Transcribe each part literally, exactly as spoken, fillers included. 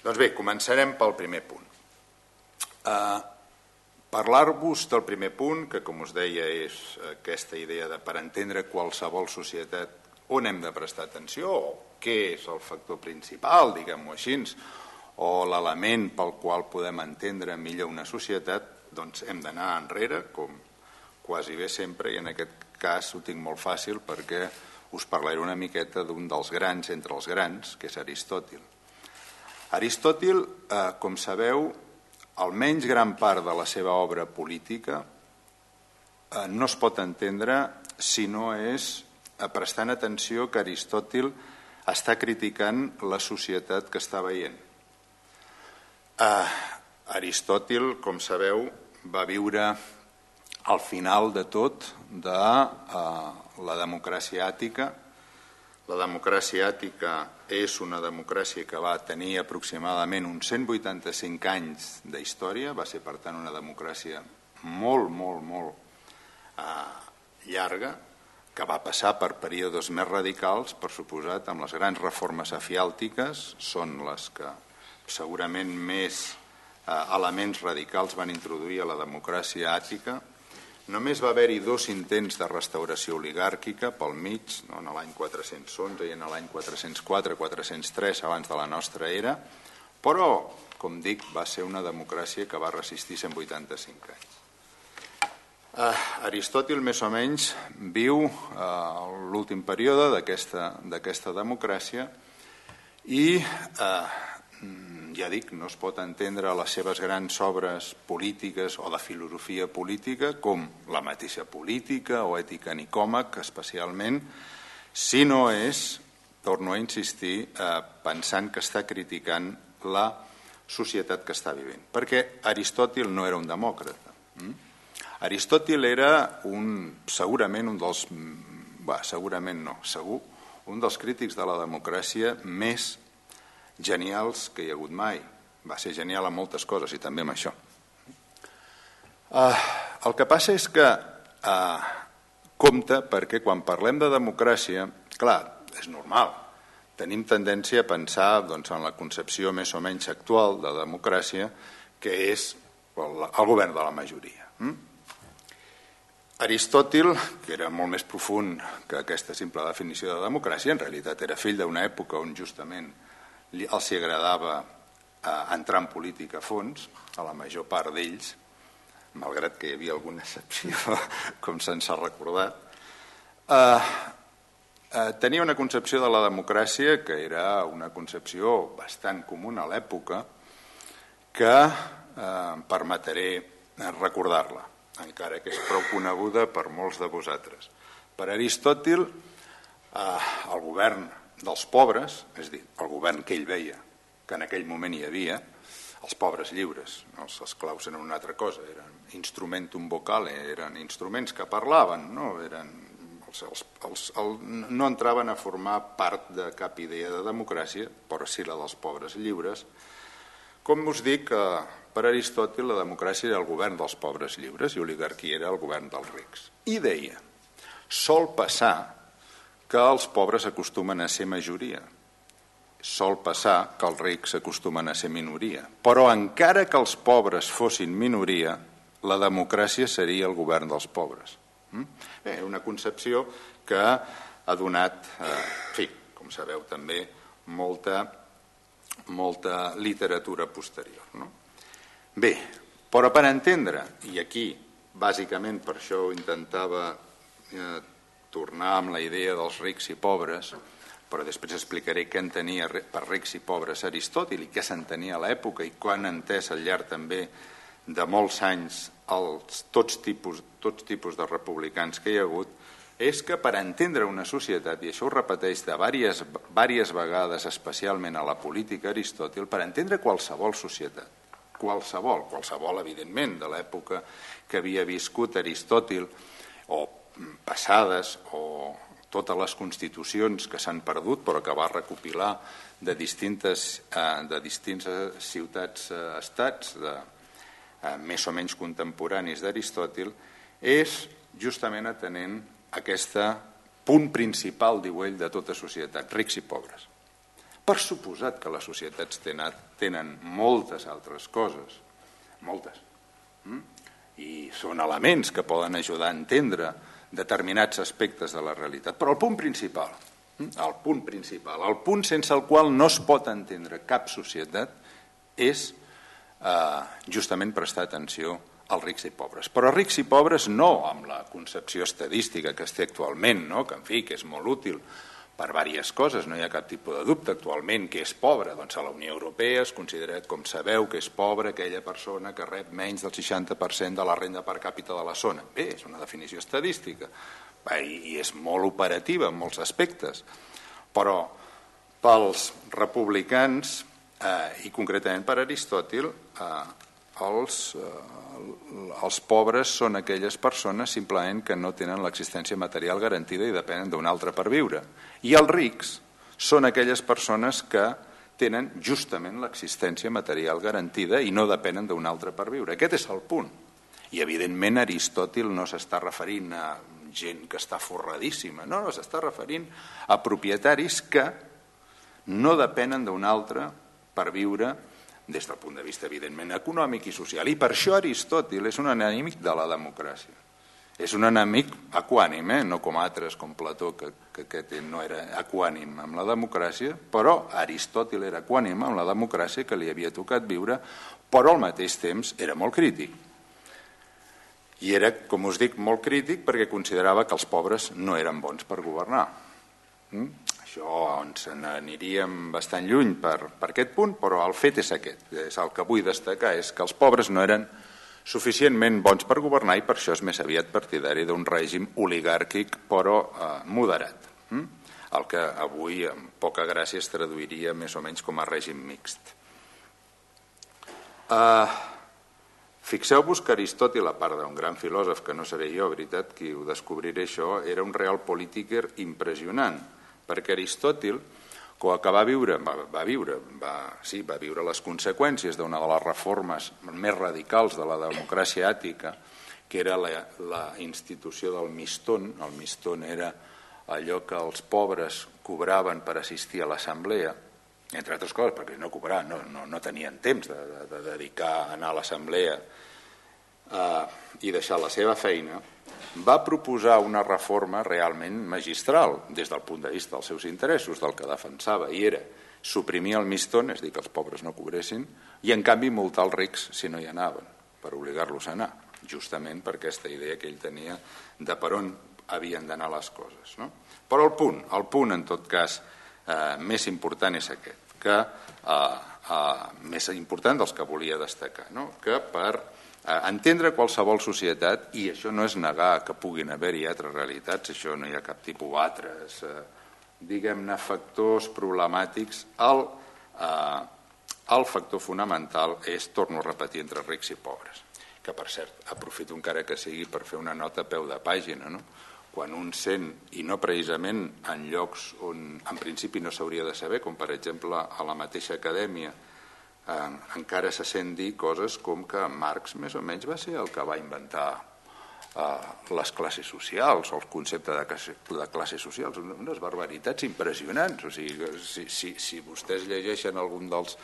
Doncs bé, començarem pel primer punt. Uh, Parlar-vos del primer punt, que com us deia és aquesta idea de per entendre qualsevol societat on hem de prestar atenció, o què és el factor principal, diguem-ho així, o l'element pel qual podem entendre millor una societat, doncs hem d'anar enrere, com quasi bé sempre, i en aquest cas ho tinc molt fàcil perquè us parlaré una miqueta d'un dels grans entre els grans, que és Aristòtil. Aristòtil, eh, com sabeu, almenys gran part de la seva obra política eh, no es pot entendre si no és eh, prestant atenció que Aristòtil està criticant la societat que està veient. Eh, Aristòtil, com sabeu, va viure al final de tot de eh, la democràcia àtica. La democràcia àtica és una democràcia que va tenir aproximadament uns cent vuitanta-cinc anys d'història, va ser per tant una democràcia molt, molt, molt eh, llarga, que va passar per períodes més radicals, per suposat, amb les grans reformes afiàltiques, són les que segurament més eh, elements radicals van introduir a la democràcia àtica. Només va haver-hi dos intents de restauració oligàrquica pel mig, no, en l'any quatre-cents onze i en l'any quatre-cents quatre quatre-cents tres abans de la nostra era, però, com dic, va ser una democràcia que va resistir cent vuitanta-cinc anys. Eh, Aristòtil, més o menys, viu eh, l'últim període d'aquesta democràcia i, eh, ja dic, no es pot entendre les seves grans obres polítiques o de filosofia política com la mateixa política o ètica nicòmac, especialment, si no és, torno a insistir, eh, pensant que està criticant la societat que està vivint. Perquè Aristòtil no era un demòcrata. Mm? Aristòtil era un, segurament un dels, bah, segurament no, segur, un dels crítics de la democràcia més genials que hi ha hagut mai. Va ser genial en moltes coses i també en això. Uh, el que passa és que uh, compte perquè quan parlem de democràcia, clar, és normal, tenim tendència a pensar doncs, en la concepció més o menys actual de democràcia, que és el, el govern de la majoria. Mm? Aristòtil, que era molt més profund que aquesta simple definició de democràcia, en realitat era fill d'una època on justament els agradava eh, entrar en política a fons, a la major part d'ells, malgrat que hi havia alguna excepció, com se'ns ha recordat. Eh, eh, tenia una concepció de la democràcia que era una concepció bastant comuna a l'època, que eh, em permetré recordar-la, encara que és prou coneguda per molts de vosaltres. Per Aristòtil, eh, el govern dels pobres, és a dir, el govern que ell veia, que en aquell moment hi havia, els pobres lliures, els esclaus eren una altra cosa, eren instrumentum vocale, eren instruments que parlaven, no, eren, els, els, els, el, no entraven a formar part de cap idea de democràcia, però sí la dels pobres lliures. Com us dic, per Aristòtil la democràcia era el govern dels pobres lliures i l'oligarquia era el govern dels rics. I deia, sol passar que els pobres acostumen a ser majoria. Sol passar que els rics acostumen a ser minoria. Però encara que els pobres fossin minoria, la democràcia seria el govern dels pobres. Bé, una concepció que ha donat, eh, en fi, com sabeu també, molta, molta literatura posterior. No? Bé, però per entendre, i aquí bàsicament per això intentava eh, tornar amb la idea dels rics i pobres, però després explicaré què entenia per rics i pobres Aristòtil i què s'entenia a l'època i quan ha entès al llarg també de molts anys els, tots, tipus, tots tipus de republicans que hi ha hagut, és que per entendre una societat, i això ho repeteix de diverses, diverses vegades, especialment a la política Aristòtil, per entendre qualsevol societat, qualsevol, qualsevol evidentment de l'època que havia viscut Aristòtil, o passades, o totes les constitucions que s'han perdut però que va recopilar de distintes, de distintes ciutats-estats de, més o menys contemporanis d'Aristòtil, és justament atenent aquest punt principal, diu ell, de tota societat, rics i pobres. Per suposat que les societats tenen moltes altres coses, moltes, i són elements que poden ajudar a entendre determinats aspectes de la realitat. Però el punt principal, el punt principal, el punt sense el qual no es pot entendre cap societat és eh, justament prestar atenció als rics i pobres. Però rics i pobres no amb la concepció estadística que es té actualment, no? Que en fi, que és molt útil per diverses coses, no hi ha cap tipus de dubte. Actualment, què és pobre? Doncs a la Unió Europea es considera, com sabeu, que és pobre aquella persona que rep menys del seixanta per cent de la renda per càpita de la zona. Bé, és una definició estadística i és molt operativa en molts aspectes, però pels republicans eh, i concretament per Aristòtil, eh, els, eh, els pobres són aquelles persones simplement que no tenen l'existència material garantida i depenen d'un altre per viure. I els rics són aquelles persones que tenen justament l'existència material garantida i no depenen d'un altre per viure. Aquest és el punt. I evidentment Aristòtil no s'està referint a gent que està forradíssima, no, no, s'està referint a propietaris que no depenen d'un altre per viure des del punt de vista, evidentment, econòmic i social. I per això Aristòtil és un enemic de la democràcia. És un enemic equànim, eh? No com altres, com Plató, que, que, que no era equànim amb la democràcia, però Aristòtil era equànim amb la democràcia que li havia tocat viure, però al mateix temps era molt crític. I era, com us dic, molt crític perquè considerava que els pobres no eren bons per governar. Mm? Això ens n'aniríem bastant lluny per, per aquest punt, però el fet és aquest. És el que vull destacar, és que els pobres no eren suficientment bons per governar i per això és més aviat partidari d'un règim oligàrquic però eh, moderat. Mm? El que avui, amb poca gràcia, es traduiria més o menys com a règim mixt. Eh... Fixeu-vos que Aristòtil, a part d'un gran filòsof, que no seré jo, veritat, qui ho descobriré això, era un real polítiquer impressionant, perquè Aristòtil, que va viure, va, va viure, va, sí, va viure les conseqüències d'una de les reformes més radicals de la democràcia àtica, que era la, la institució del mistón. El mistón era allò que els pobres cobraven per assistir a l'assemblea, entre altres coses, perquè no cobraven, no, no, no tenien temps de, de, de dedicar a anar a l'assemblea eh, i deixar la seva feina, va proposar una reforma realment magistral des del punt de vista dels seus interessos, del que defensava, i era suprimir el mistón, és a dir, que els pobres no cobressin, i en canvi multar els rics si no hi anaven, per obligar-los a anar, justament per aquesta idea que ell tenia de per on havien d'anar les coses. No? Però el punt, el punt en tot cas eh, més important és aquest, que eh, eh, més important dels que volia destacar, no? Que per eh, entendre qualsevol societat, i això no és negar que puguin haver-hi altres realitats, això no hi ha cap tipus d'altres, eh, diguem-ne, factors problemàtics, el, eh, el factor fonamental és, torno a repetir, entre rics i pobres, que per cert, aprofito encara que sigui per fer una nota a peu de pàgina, no? Quan un sent, i no precisament en llocs on en principi no s'hauria de saber, com per exemple a la mateixa acadèmia, eh, encara se sent dir coses com que Marx més o menys va ser el que va inventar eh, les classes socials, o el concepte de, classe, de classes socials, unes barbaritats impressionants. O sigui, si, si, si vostès llegeixen algun dels,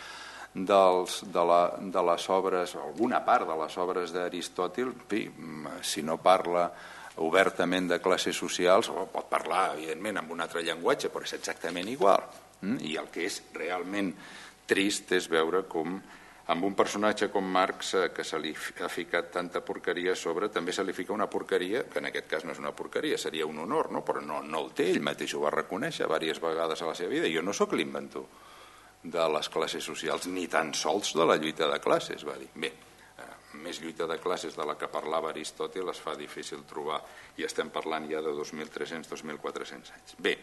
dels, de, la, de les obres, alguna part de les obres d'Aristòtil, si no parla obertament de classes socials, o pot parlar, evidentment, amb un altre llenguatge, però és exactament igual. I el que és realment trist és veure com amb un personatge com Marx, que se li ha ficat tanta porqueria a sobre, també se li fica una porqueria, que en aquest cas no és una porqueria, seria un honor, no? Però no, no el té, ell mateix ho va reconèixer diverses vegades a la seva vida. Jo no sóc l'inventor de les classes socials, ni tan sols de la lluita de classes, va dir. Bé, més lluita de classes de la que parlava Aristòtil es fa difícil trobar, i estem parlant ja de dos mil tres-cents a dos mil quatre-cents anys. Bé,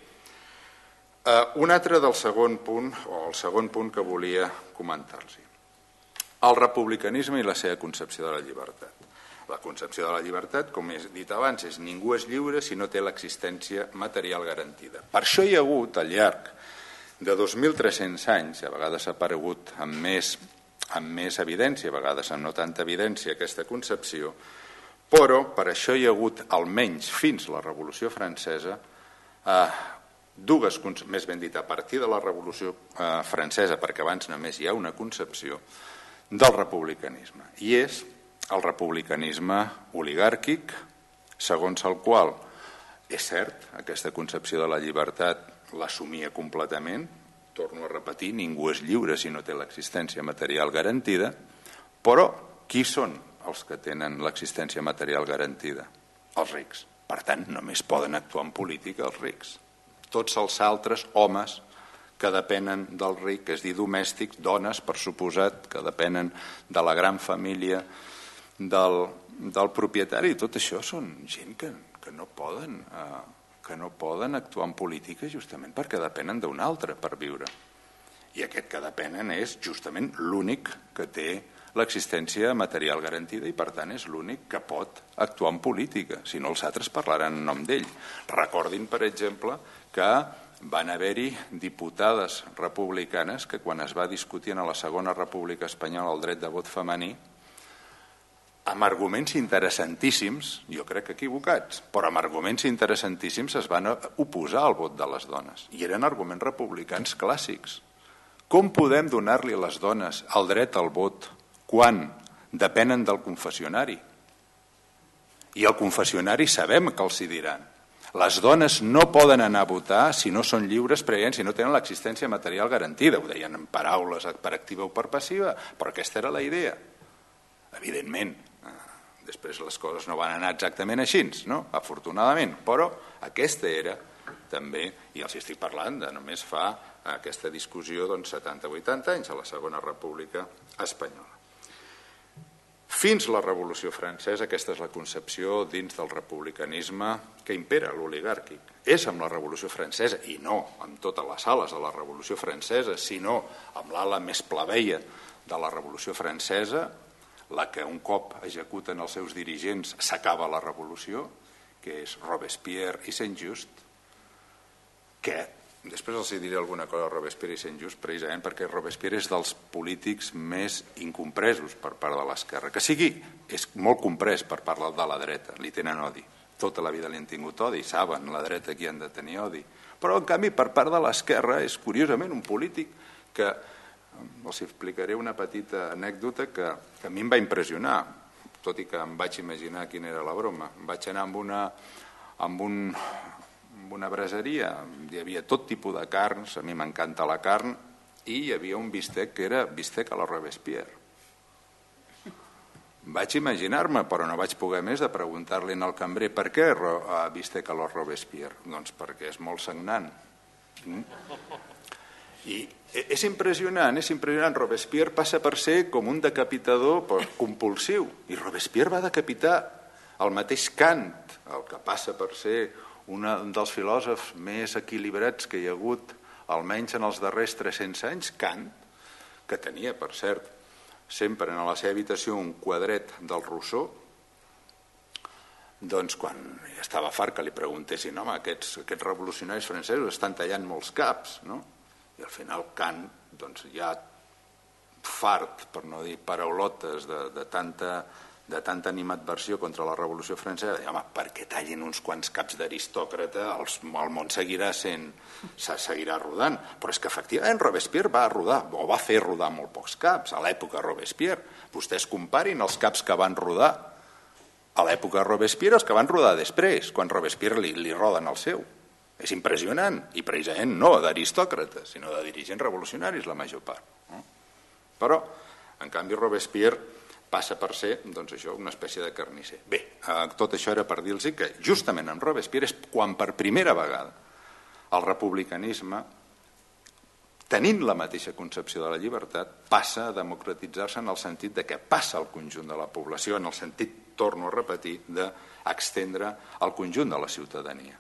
un altre del segon punt, o el segon punt que volia comentar-los. El republicanisme i la seva concepció de la llibertat. La concepció de la llibertat, com he dit abans, és ningú és lliure si no té l'existència material garantida. Per això hi ha hagut, al llarg de dos mil tres-cents anys, a vegades ha aparegut amb més amb més evidència, a vegades amb no tanta evidència, aquesta concepció, però per això hi ha hagut, almenys fins a la Revolució Francesa, eh, dues, més ben dit, a partir de la Revolució Francesa, perquè abans només hi ha una concepció del republicanisme, i és el republicanisme oligàrquic, segons el qual, és cert, aquesta concepció de la llibertat l'assumia completament, torno a repetir, ningú és lliure si no té l'existència material garantida, però qui són els que tenen l'existència material garantida? Els rics. Per tant, només poden actuar en política els rics. Tots els altres homes que depenen del ric, és dir, domèstics, dones, per suposat, que depenen de la gran família del, del propietari, tot això són gent que, que, no poden, eh, que no poden actuar en política justament perquè depenen d'un altre per viure. I aquest que depenen és justament l'únic que té l'existència material garantida i per tant és l'únic que pot actuar en política, si no els altres parlaran en nom d'ell. Recordin, per exemple, que van haver-hi diputades republicanes que quan es va discutir en la Segona República Espanyola el dret de vot femení, amb arguments interessantíssims, jo crec que equivocats, però amb arguments interessantíssims es van oposar al vot de les dones. I eren arguments republicans clàssics. Com podem donar-li a les dones el dret al vot quan depenen del confessionari? I el confessionari sabem que els hi diran. Les dones no poden anar a votar si no són lliures prèviament, si no tenen l'existència material garantida. Ho deien en paraules per activa o per passiva, però aquesta era la idea. Evidentment, després les coses no van anar exactament així, no? Afortunadament, però aquesta era també, i els estic parlant de només fa aquesta discussió doncs, setanta o vuitanta anys a la Segona República Espanyola. Fins la Revolució Francesa, aquesta és la concepció dins del republicanisme que impera, l'oligàrquic. És amb la Revolució Francesa, i no amb totes les ales de la Revolució Francesa, sinó amb l'ala més plebeia de la Revolució Francesa, la que un cop executen els seus dirigents s'acaba la revolució, que és Robespierre i Saint-Just, que després els diré alguna cosa a Robespierre i Saint-Just, precisament perquè Robespierre és dels polítics més incompresos per part de l'esquerra. Que sigui, és molt comprès per part de la dreta, li tenen odi. Tota la vida li han tingut odi, saben la dreta qui han de tenir odi. Però, en canvi, per part de l'esquerra és curiosament un polític que, els explicaré una petita anècdota que, que a mi em va impressionar, tot i que em vaig imaginar quina era la broma. Em vaig anar amb una... amb un en una braseria, hi havia tot tipus de carns, a mi m'encanta la carn, i hi havia un bistec que era bistec a la Robespierre. Vaig imaginar-me, però no vaig poder més de preguntar-li al cambrer per què bistec a la Robespierre? Doncs perquè és molt sagnant. I és impressionant, és impressionant. Robespierre passa per ser com un decapitador compulsiu, i Robespierre va decapitar el mateix Kant, el que passa per ser un dels filòsofs més equilibrats que hi ha hagut, almenys en els darrers tres-cents anys, Kant, que tenia, per cert, sempre en la seva habitació un quadret del Rousseau, doncs quan estava fart que li preguntessin, home, aquests, aquests revolucionaris francesos estan tallant molts caps, no? I al final Kant, doncs ja fart, per no dir paraulotes, de, de tanta... de tanta animadversió contra la Revolució Francesa, home, perquè tallin uns quants caps d'aristòcrata, el món seguirà sent, seguirà rodant. Però és que efectivament Robespierre va rodar, o va fer rodar molt pocs caps a l'època Robespierre. Vostès comparin els caps que van rodar a l'època Robespierre els que van rodar després, quan Robespierre li, li roden el seu. És impressionant, i precisament no d'aristòcrates, sinó de dirigents revolucionaris la major part. Però, en canvi, Robespierre passa per ser, doncs això, una espècie de carnisser. Bé, tot això era per dir-los que justament amb Robespierre és quan per primera vegada el republicanisme, tenint la mateixa concepció de la llibertat, passa a democratitzar-se en el sentit de que passa al conjunt de la població, en el sentit, torno a repetir, d'estendre al conjunt de la ciutadania.